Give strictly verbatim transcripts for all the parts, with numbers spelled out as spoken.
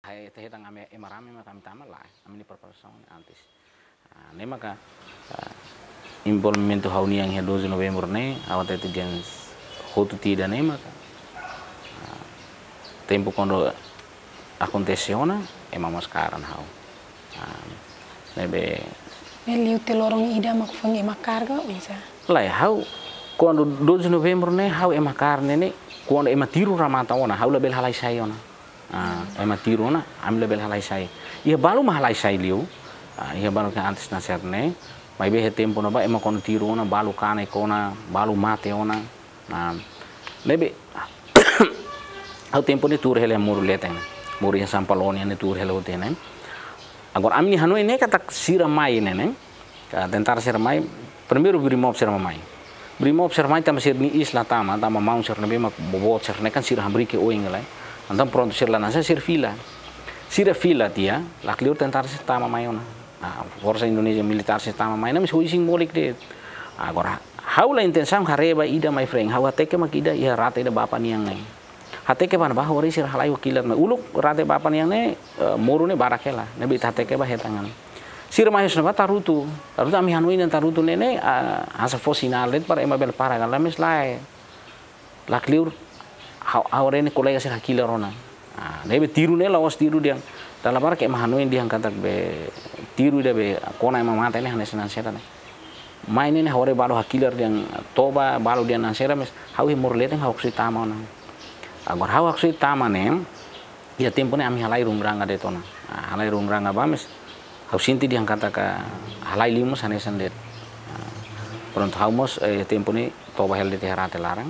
Ita hetan ami ema rame mak ami tama, lae. Ami-nia preparasaun antes. Ah, ne'e maka, ah, envolvimentu ha'u-nian iha doze Novembru ne'e, ha'u hatete dehan hotu tiha ida-ne'e maka, ah, tempu kuandu akontese ona, ema mós kaer ona ha'u. Ah, ne'ebé. Ne'e liu tiha loron ida mak foin ema kaer ka, oinsá? Lae, ha'u, kuandu doze Novembru ne'e, ha'u ema kaer ne'e ne'e, kuandu ema tiru remata ona, ha'u labele halai sai ona. Ah, ema tiru ona, ami labele halai sai. Iha balu mak halai sai liu. Ah, iha balu ke antes nasar ne'e. Maibé iha tempu ne'ebá ema kuandu tiru ona, balu kanek ona, balu mate ona. Ah, ne'ebé, ha'u tempu ne'e tuur hela moru leten. Moru iha Sampalonia ne'e tuur hela hotu ne'e. Agora ami-nia hanoin ne'e katak sira mai ne'e ne'e. Ka tentara sira mai, primeiru Brimob sira mai. Brimob sira mai tanba sira-nia iis la tama, tanba maun sira ne'ebé mak boboot sira ne'e kan sira hamriik oin lai. Entaun prontu sira la hanesan sira fila. Sira fila tiha, lakleur tentara sira tama mai ona. Ah, forsa Indonézia militár sira tama mai ona, maibé hoi simbolik de'it. Agora, ha'u la intensaun haree ba ida mai freng, ha'u hateke mak ida iha rate ida bapa nian ne'e. Hateke ba ne'ebá hori sira halai ho kilat mai. Uluk rate bapa nian ne'e, eh, moru ne'e barak hela. Ne'ebé ita hateke ba hetan an. Sira mai husi ne'ebá tarutu. Tarutu ami hanoin dehan tarutu ne'e ne'e, ah, hanesan fó sinál de'it para ema bele para ka lae, maibé lae. Lakleur ha'u, ha'u haree ne'e kolega sira hakilar ona. Ah, ne'ebé tiru ne'e la'ós tiru dehan. Dala barak ema hanoin dehan katak be tiru ida be kona ema mate ne'e hanesan naran sira ne'e. Mai ne'e ne'e ha'u haree balu hakilar dehan toba, balu dehan naran sira maibé ha'u iha moru leten ha'u haksoit tama ona. Agora ha'u haksoit tama ne'e, iha tempu ne'e ami halai runguranga de'it ona. Ah, halai runguranga ba maibé ha'u sente dehan katak halai liu mós hanesan de'it. Ah, prontu ha'u mós, eh, tempu ne'e toba hela de'it iha rate laran.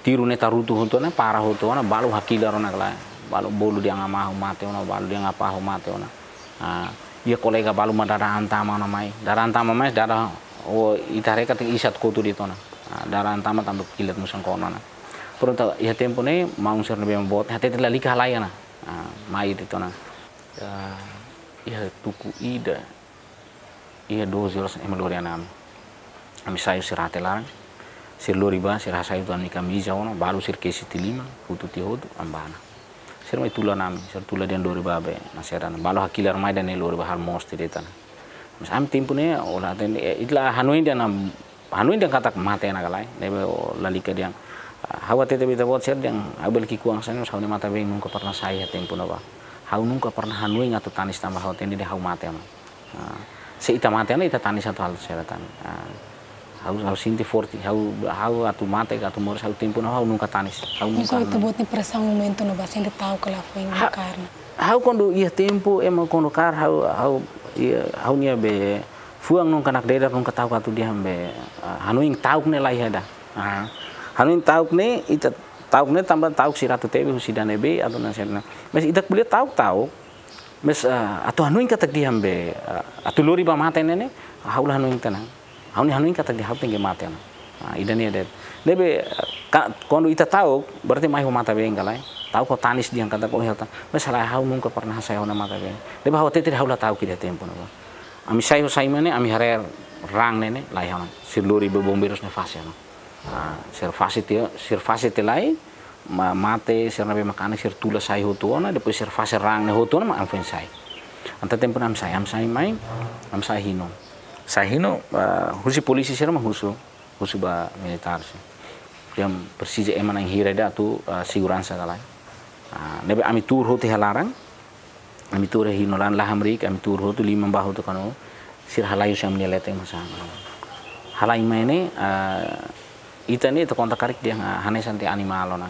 Tiru ne'e tarutu hotu ona, para hotu ona, balu hakilar ona ka lae. Balu bolu dehan ama ho mate ona, balu dehan apá ho mate ona. Ah, iha kolega balu mak dada an tama ona mai. Dada an tama mai, dada, oh, ita haree katak isat kotu de'it ona. Ah, dada an tama tanba kilat musan kona ona. Prontu iha tempu ne'e, maun sira ne'ebé boot, hatete lalika halai ona. Ah, mai de'it ona. Ah, iha tuku ida. Iha doze oras ema lori an ami. Ami sai husi rate laran. Sira lori ba, sira hasai hotu ami-nia kamiza ona, balu sira kesi tiha liman, hotu tiha hotu, ami bá ona. Sira mai tula an ami, sira tula dehan lori ba be, naran sira ne'e. Balu hakilar mai dehan ne'e lori ba halo mós tiha de'it ona. Maibé ami tempu ne'e, ó la hatene, eh, ita la hanoin dehan, hanoin dehan katak mate ona ka lae, ne'ebé ó lalika dehan. Ah, ha'u hatete ba ita-boot sira dehan, ha'u bele ki'ikoan hanesan ne'e, maibé ha'u-nia matan-been nunka pernah sai iha tempu ne'ebá. Ha'u nunka pernah hanoin atu tanis tanba ha'u hatene dehan ha'u mate ona. Ah, se ita mate ona, ita tanis atu halo sira tan. Ah, ha'u, ha'u sente forte, ha'u, ha'u atu mate, atu moris, ha'u tempu ne'e ha'u nunka tanis. Ha'u nunka. Maibé ita-boot nia pressão momentu ne'ebá sente ta'uk ka lae foin Ha-, karena. Ha'u kuandu iha tempu, ema kuandu kaer, ha'u, ha'u, iha, ha'u-nia be fuan nunka nakdedar nunka ta'uk atu dehan be, ah, hanoin ta'uk ne'e la iha ida. Ah, hanoin ta'uk ne'e, ita ta'uk ne'e tanba ta'uk sira atu tebe husi ida ne'ebé, atu naran sira ne'e. Maibé ita ko'alia ta'uk, ta'uk, maibé, ah, atu hanoin katak dehan be, ah, atu lori ba mate ne'e ne'e, ha'u la hanoin tiha ona. Ha'u-nia hanoin katak dehan ha'u tenke mate ona. Ah, ida-ne'e de'it. Ne'ebé, ah, ka-, kuandu ita ta'uk, berarti mai ho matan-been ka lae. Ta'uk ho tanis dehan katak ohin ha'u tan. Maibé lae ha'u nunka pernah hasai ha'u-nia matan-been. Ne'ebé ha'u hatete ha'u la ta'uk iha tempu ne'ebá. Ami sai ho sai mane, ami haree raan ne'e ne'e, la iha ona. Sira lori ba bombeirus ne'e fase ona. Ah, sira fase tiha, sira fase tiha lai, ma-, mate, sira ne'ebé mak kanek, sira tula sai hotu ona, depois sira fase raan ne'e hotu ona, mak ami foin sai. Entaun tempu ne'e ami sai, ami sai mai, ami sai Hino. Sai Hino, ah, husi polísia sira mak husu, husu ba militár sira. Dehan presiza ema na'in hira ida atu, ah, seguransa ka lae. Ah, ne'ebé ami tuur hotu iha laran, ami tuur iha Hino laran, la hamriik, ami tuur hotu, liman bá hotu kanu, sira halai husi ami-nia leten mós an. Halai mai ne'e, ah, ita ne'e ita konta karik dehan, ah, hanesan tiha animál ona.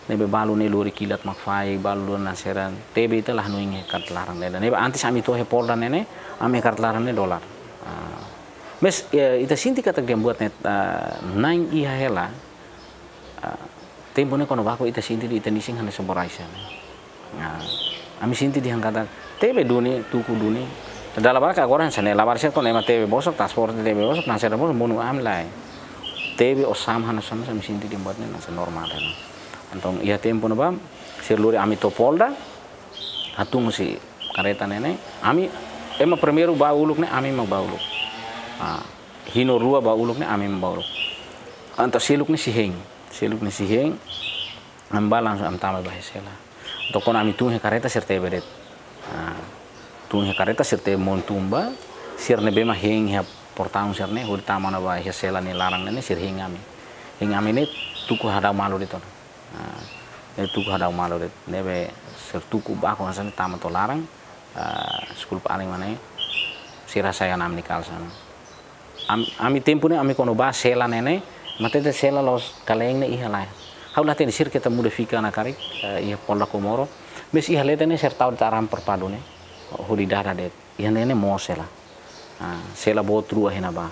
Ne'ebé balu ne'e lori kilat mak fahe, balu lori naran sira, tebe ita la hanoin iha kaer laran ne'e. Ne'ebé antes ami to'o iha polda ne'e ne'e, ami iha kaer laran ne'e dolar. Ah, maibé, eh, ita sente katak dehan buat ne'e, ah, na'in iha hela, ah, tempu ne'e kuandu baku ita sente dehan ita-nia isin hanesan borracha ne'e. Ah, ami sente dehan katak tebe duni, tuku duni. Dala barak agora hanesan ne'e, labarik sira kuandu ema tebe bosok, transporte tebe bosok, naran sira bosok, monu ami lae. Tebe osan hanesan, ami sente dehan buat ne'e hanesan normál ona. Entaun iha tempu ne'ebá, sira lori ami to'o polda, hatún husi kareta ne'e ne'e, ami, ema primeiru bá uluk ne'e, ami mak bá uluk. Ah, Hino rua bá uluk ne'e, ami mak bá uluk. Entaun seluk ne'e sei hein, seluk ne'e sei hein, ami bá langsung ami tama ba iha sela. Entaun kuandu ami tun iha karreta sira tebe de'it. Ah, tun iha karreta sira tebe monu tun ba, sira ne'ebé mak hein iha portaun sira-ne'e, hodi tama ona ba iha sela nia laran ne'e, sira hein ami. Hein ami ne'e tuku hadau malu de'it ona. Ah, ne'e tuku hadau malu de'it. Ne'ebé sira tuku baku hanesan ne'e tama to'o laran, ah, deskulpa alin mak ne'e, sira hasai ona ami-nia kalsa ne'e. Am-, ami tempu ne'e, ami kuandu ba sela ne'e ne'e, ema hatete sela la'ós kale'en ne'e iha lae. Ha'u la hatene, sira keta muda fika ona karik, eh, iha Polda Comoro. Mais iha leten ne'e sira tau de'it arame farpadu ne'e, hodi dada de'it. Iha ne'e ne'e moos sela. Ah, sela boot rua iha ne'ebá.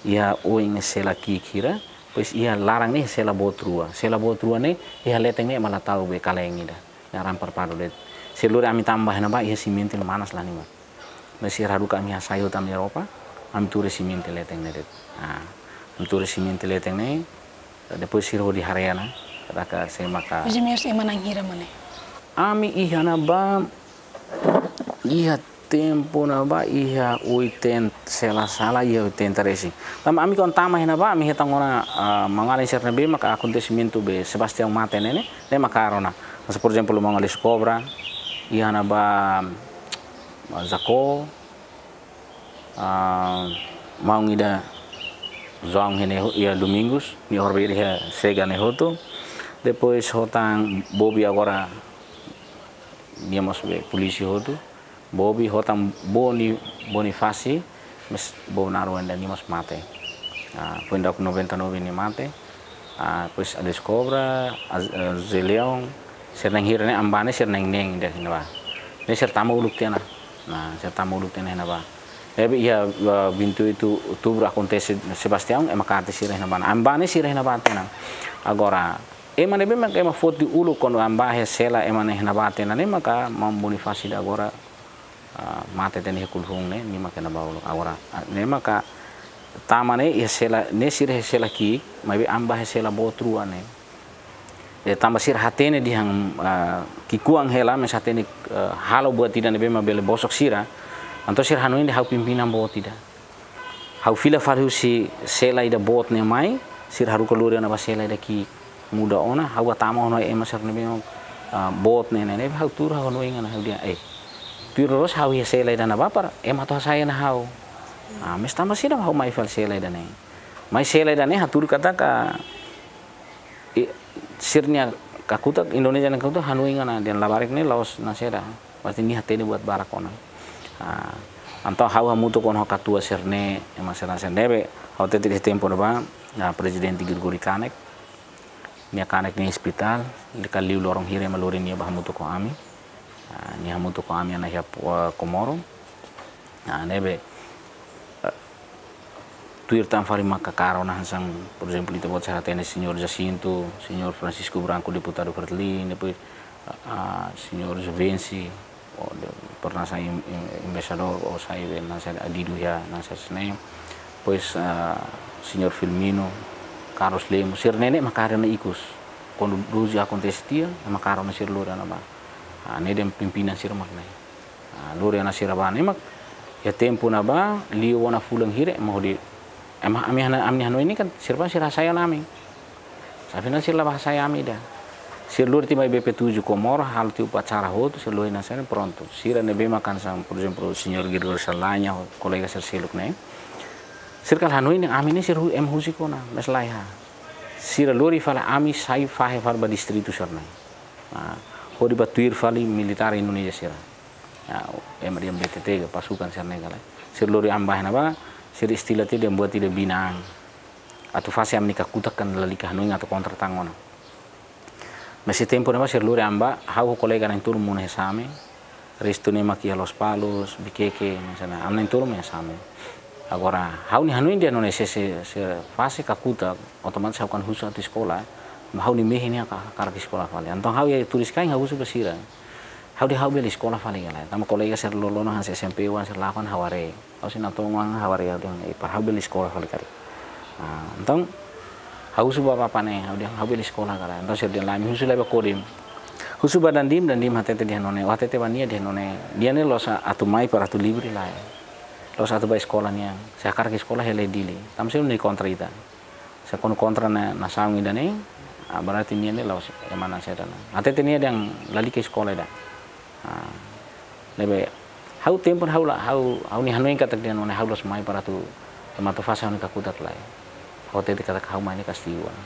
Iha oin ne'e sela ki'ik hira, depois iha laran ne'e sela boot rua. Sela boot rua ne'e, iha leten ne'e ema la tau be kale'en ida. Ne'e arame farpadu de'it. Sira lori ami tama ba iha ne'ebá, iha simente manas la halimar. Mais sira haruka ami hasai hotu ami-nia roupa, ami tuur iha simente leten ne'e de'it. Ah, ami tuur iha simente leten ne'e, depois sira hodi haree ona, katak sé maka. Hoje mesmo ema na'in hira mak ne'e? Ami iha ne'ebá, iha tempu ne'ebá, iha oitenta, se la sala, iha oitenta resin. Tanba ami kuandu tama iha ne'ebá, ami hetan ona, ah, maun-alin sira ne'ebé maka akontesimentu be Sebastião mate ne'e ne'e, ne'e mak hakarak ona. Mas, por ezemplu, maun Alice Cobra, iha ne'ebá, ah, Jaco, ah, maun ida João ne'e ho-, iha Domingos, nia horibainhira iha Sega ne'e hotu. Depois hotu tan Bobi agora nia mós be polísia hotu. Bobi, hotu tan Boni, Bonifasi, mais Bobi Naru ida nia mós mate. Ah, foin daudauk noventa e nove nia mate. Ah, depois Alice Cobra, Az-, eh, José Leão, sira na'in hira ne'e, ami ba ne'e sira na'in neen de'it iha ne'ebá. Ne'e sira tama uluk tiha ona. Nah, sira tama uluk tiha ona iha ne'ebá. Ne'ebé iha, eh, vinte e oito outubro akontese Sebastião, ema kaer tiha sira iha ne'ebá. Ami ba ne'e sira iha ne'ebá tiha ona. Agora, ema ne'ebé mak ema foti uluk kuandu ami ba iha sela ema ne'e iha ne'ebá tiha ona ne'e maka maun Bonifasi ida agora, ah, mate tiha ona iha Kulhun ne'e, nia mak iha ne'ebá uluk. Agora, ah, ne'e maka tama ne'e iha sela, ne'e sira iha sela ki'ik, maibé ami ba iha sela boot rua ne'e. Dehan tanba sira hatene dehan, ah, ki'ikoan hela, mais hatene, ah, halo buat ida ne'ebé mak bele bosok sira. Entaun sira hanoin dehan ha'u pimpinan boot ida. Ha'u fila fali husi sela ida boot ne'e mai, sira haruka lori ona ba sela ida ki'ik, muda ona, ha'u bá tama ona ema sira ne'ebé mak, ah, boot ne'e ne'e, ne'e ha'u tuur ha'u hanoin ona ha'u dehan, eh, tuir loloos ha'u iha sela ida ne'ebá para ema atu hasai ona ha'u. Ah, mais tanba saida ha'u mai fali sela ida ne'e. Mai sela ida ne'e hatudu katak, i, sira-nia kakutak, Indonézia nia kakutak hanoin ona dehan labarik ne'e la'ós nasaida. Berarti nia hatene buat barak ona. Ah, entaun ha'u hamutuk ho katuas sira-ne'e, ema sira-ne'e sira ne'ebé, ha'u hatete iha tempu ne'ebá, ah, Prezidente Gregório kanek, nia kanek nia iha ospitál, depois liu loron hira ema lori nia bá hamutuk ho ami. Ah, nia hamutuk ho ami iha ne'e iha, eh, Comoro. Ah, ne'ebé, eh, tuir tan fali maka hakarak ona hanesan, por ezemplu, ita-boot sira hatene señór Jacinto, señór Francisco Branco, deputadu Fretilin, depois, ah, señór Juvenci, o de, pernah sai em-, em-, embaixadór, o sai be nasaida, adidu iha nasaida sira-ne'e. Depois, ah, señór Filmino, Carlos Lemos, sira-ne'e ne'e mak hakarak ona ikus. Kuandu doze akontese tiha, mak hakarak ona sira lori ona bá. Ah, ne'e dehan pimpinan sira mak ne'e. Ah, lori ona sira bá ne'e mak, iha tempu ne'ebá, liu ona fulan hira, ema hodi, ema, ami hana-, ami hanoin ne'e kan, sira bá sira hasai ona ami. Afinál sira la bá hasai ami ida. Sira lori tiha mai B P tujuh Comoro, halo tiha upacara hotu, sira lori nasaida, prontu. Sira ne'ebé mak hanesan, por ezemplu, señór Gregório Saldanha, kolega sira seluk ne'e. Sira kala hanoin ami ne'e sira hu-, ema husik ona, mais laiha. Sira lori fali ami sai fahe fali ba distritu sira-ne'e. Ah, hodi bá tuir fali militár Indonézia sira. Ah, ema dehan B T T ka pasukan sira-ne'e ka lae. Sira lori ami bá iha ne'ebá, sira istila tiha dehan buat ida binan. Atu fase ami-nia kakutak kan lalika hanoin atu kontra tan ona. Mais iha tempu ne'ebá sira lori ami bá, ha'u ho kolega na'in-tolu monu iha Same, restu ne'e mak iha Lospalos, Viqueque, misalnya, ami na'in-tolu mak iha Same. Agora, ha'u-nia hanoin dehan nune'e se, se, se fase kakutak, otomatis ha'u kan husu atu eskola, maibé ha'u-nia mehi ne'e haka-, hakarak eskola fali. Entaun ha'u iha Turis-Kain ha'u husu ba sira. Ha'u dehan ha'u bele eskola fali ka lae. Tanba kolega sira loroloron hanesan S M P oan sira lakon ha'u haree. Ha'u sei natoon oan ha'u haree ha'u dehan, eh, para ha'u bele eskola fali karik. Ah, entaun, ha'u husu ba bapa ne'e, ha'u dehan ha'u bele eskola ka lae. Entaun sira dehan lae, ami husu lai ba Kodim. Husu ba Dandim, Dandim hatete dehan nune'e, o hatete ba nia dehan nune'e. Nia ne'e la'ós atu mai para atu livre lae. La'ós atu bá eskola nian. Se hakarak eskola hela iha Dili. Tanba sira ne'e kontra ita. Se kuandu kontra ona nasaun ida-ne'e, Ah, berarti nia ne'e la'ós ema naran saida ona. Hatete nia dehan lalika eskola ida. Ah, ne'ebé ha'u tempu ha'u la, ha'u, ha'u-nia hanoin katak dehan nune'e ha'u la'ós mai para atu, ema atu fase ha'u-nia kakutak, lae. Ha'u hatete katak ha'u mai ne'e kastigu ona.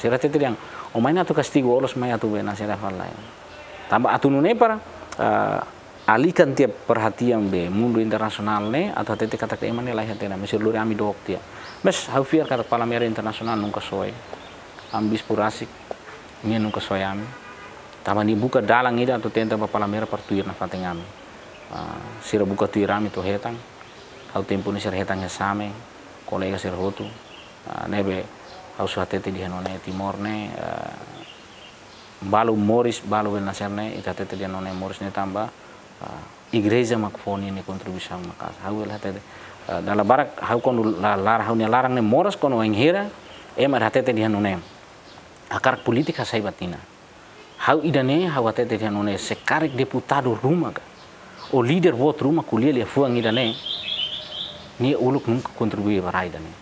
Sira hatete dehan, ó mai ne'e atu kastigu, ó la'ós mai atu be naran saida fali, lae. Tanba atu nune'e para, ah, alihkan tiha perhatian be mundu internasionál ne'e, atu hatete katak ema ne'e laiha tiha ona, maibé sira lori ami dook tiha. Maibé ha'u fiar katak Palameira Internasionál nunka soe. Ami bispu rasik, nia nunka soe ami. Tanba nia buka dalan ida atu tenta ba Palameira para tuir nafatin ami. Ah, sira buka tuir ami to'o hetan. Ha'u tempu ne'e sira hetan iha Same, kolega sira hotu. Ah, ne'ebé ha'u só hatete dehan nune'e Timor ne'e, ah, balu moris, balu be naran saida ne'e, ita hatete dehan nune'e moris ne'e tanba, ah, igreja mak fó nia kontribuisaun maka'as. Ha'u bele hatete, ah, dala barak ha'u kuandu la, lar, ha'u-nia laran ne'e moras kuandu wainhira ema hatete dehan nune'e hakarak polítika hasai batina. Ha'u ida-ne'e, ha'u hatete dehan nune'e se karik deputadu ruma ka, ou líder boot ruma ko'alia liafuan ida-ne'e, nia uluk nunka kontribui ba rai ida-ne'e.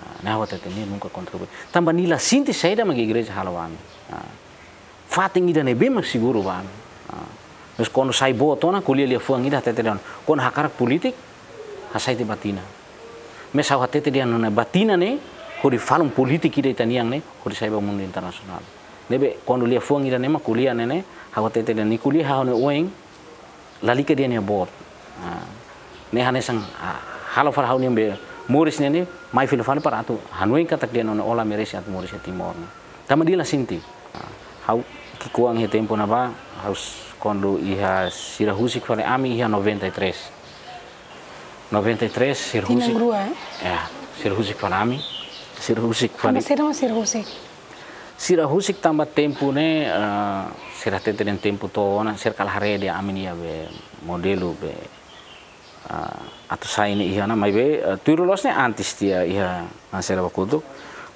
Ah, ne'e ha'u hatete nia nunka kontribui. Tanba nia la sente saida mak igreja halo ba ami. Ah, fatin ida ne'ebé mak seguru ba ami. Ah, maibé kuandu sai boot ona, ko'alia liafuan ida hatete dehan, kuandu hakarak polítika, hasai tiha batina. Maibé ha'u hatete dehan nune'e batina ne'e, hodi falun polítika ida ita-nian ne'e, hodi sai ba mundu internasionál. Ne'ebé kuandu liafuan ida-ne'e mak ko'alia ne'e ne'e, ha'u hatete dehan nia ko'alia ha'u-nia oin, lalika dehan nia boot. Ah, ne'e hanesan, ah, halo fali ha'u-nia be moris ne'e ne'e, mai fila fali para atu hanoin katak dehan nune'e ó la merese atu moris iha Timor ne'e. Tanba nia la sente. Ah, ha'u ki'ikoan iha tempu ne'ebá, ha'u s-, kuandu iha sira husik fali ami iha noventa e três. Noventa e três, sira husik. Tinan rua, eh? Ya, sira husik fali ami. Sira husik fali. Tanba saida mak sira husik? Sira husik tanba tempu ne'e, eh, sira hatete dehan tempu to'o ona, sira kala haree dehan ami-nia be modelu be, eh, atu sai ne'e iha ona, maibé, eh, tuir loloos ne'e antes tiha iha naran saida ba kotuk.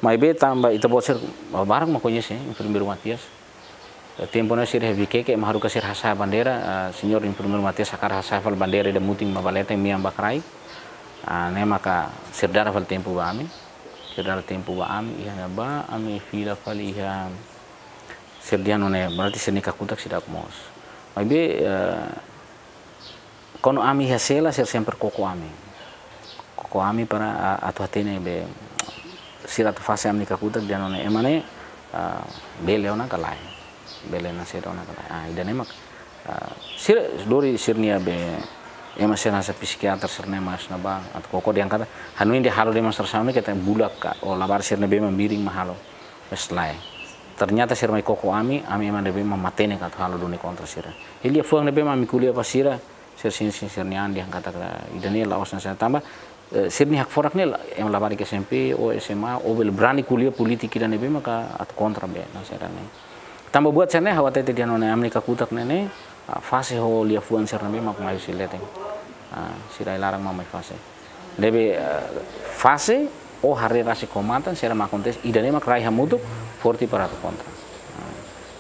Maibé tanba ita-boot sira barak mak koñese, eh, Enfermeiru Matias. Eh, tempu ne'e sira iha Vikeke, ema haruka sira hasa'e bandeira, eh, señór Enfermeiru Matias hakarak hasa'e fali bandeira ida mutin mak ba leten, mean ba kraik. Ah, ne'e maka sira dada fali tempu ba ami. Sira dada tempu ba ami, iha ne'ebá, ami fila fali iha, sira dehan nune'e, berarti sira-nia kakutak seidauk moos. Maibé, eh, kuandu ami iha sela, sira sempre koko ami. Koko ami para, ah, atu hatene be, sira atu fase ami-nia kakutak dehan nune'e ema ne'e, ah, bele ona ka lae. Bele naran saida ona ka lae. Ah, ida-ne'e mak, ah, sira lori sira-nia be, ema sira hanesan psikiater sira-ne'e mai iha ne'ebá, atu koko dehan katak, hanoin dehan halo demonstrasaun ne'e katak bulak ka, ou labarik sira-ne'ebé mak miring mak halo. Maibé lae. Ternyata sira mai koko ami, ami ema ne'ebé mak matenek atu halo duni kontra sira. Liafuan ne'ebé mak ami ko'alia ba sira, sira sente sira-nia an dehan katak ida-ne'e la'ós naran saida tanba, eh, sira-nia hakfodak ne'e la, ema labarik S M P, ou S M A, ou bele brani ko'alia polítika ida ne'ebé maka atu kontra be, naran saida ne'e. Tanba buat sira-ne'e, ha'u hatete dehan nune'e ami-nia kakutak ne'e ne'e, ah, fase ho liafuan sira ne'ebé mak mai husi leten. Ah, sira iha laran mak mai fase. Ne'ebé, eh, fase ou haree rasik ho matan, sira mak akontese, ida-ne'e mak rai hamutuk, forte para atu kontra. Ah,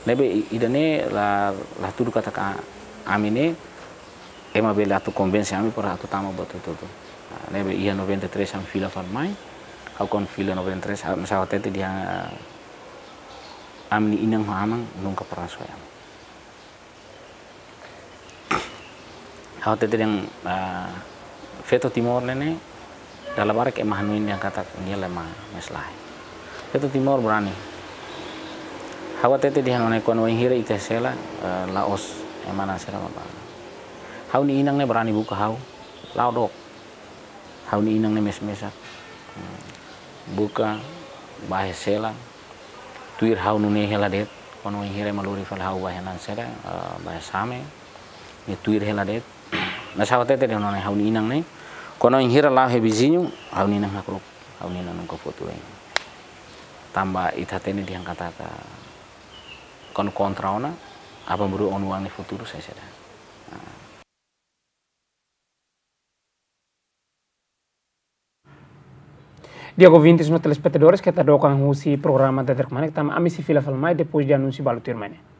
ne'ebé i-, ida-ne'e la, la hatudu katak ami ne'e, ema bele atu konvense ami para atu tama buat hotu-hotu. Ah, ne'ebé iha noventa e três ami fila fali mai, ha'u kuandu fila noventa e três, ah, maibé ha'u hatete dehan, ah, ami-nia inan ho aman nunka pernah soe ami. Ha'u hatete dehan, ah, feto Timor ne'e ne'e, dala barak ema hanoin dehan katak nia la ema, maibé lae. Feto Timor brani. Ha'u hatete dehan nune'e kuandu wainhira ita iha sela, eh, la'ós ema naran saida mak ba. Ha'u-nia inan ne'e brani buka ha'u, la'o dook. Ha'u-nia inan ne'e mesak-mesak. Hmm. Buka, bá iha sela. Tuir ha'u nune'e hela de'it, kuandu wainhira ema lori fali ha'u ba iha naran saida, eh, ba iha Same. Nia tuir hela de'it. Maibé ha'u hatete dehan nune'e ha'u-nia inan ne'e, kuandu wainhira la'o iha viziñu, ha'u-nia inan hakru'uk, ha'u-nia inan nunka fó tuir. Tanba ita hatene dehan katak, kuandu kontra ona, aban-bainrua ó-nia oan nia futuru sai saida. Ah. Di'ak ouvintes no telespetadores, keta dook an husi programa Dader Kmanek, tanba ami sei fila fali mai depois de anúnsiu balu tuirmai ne'e.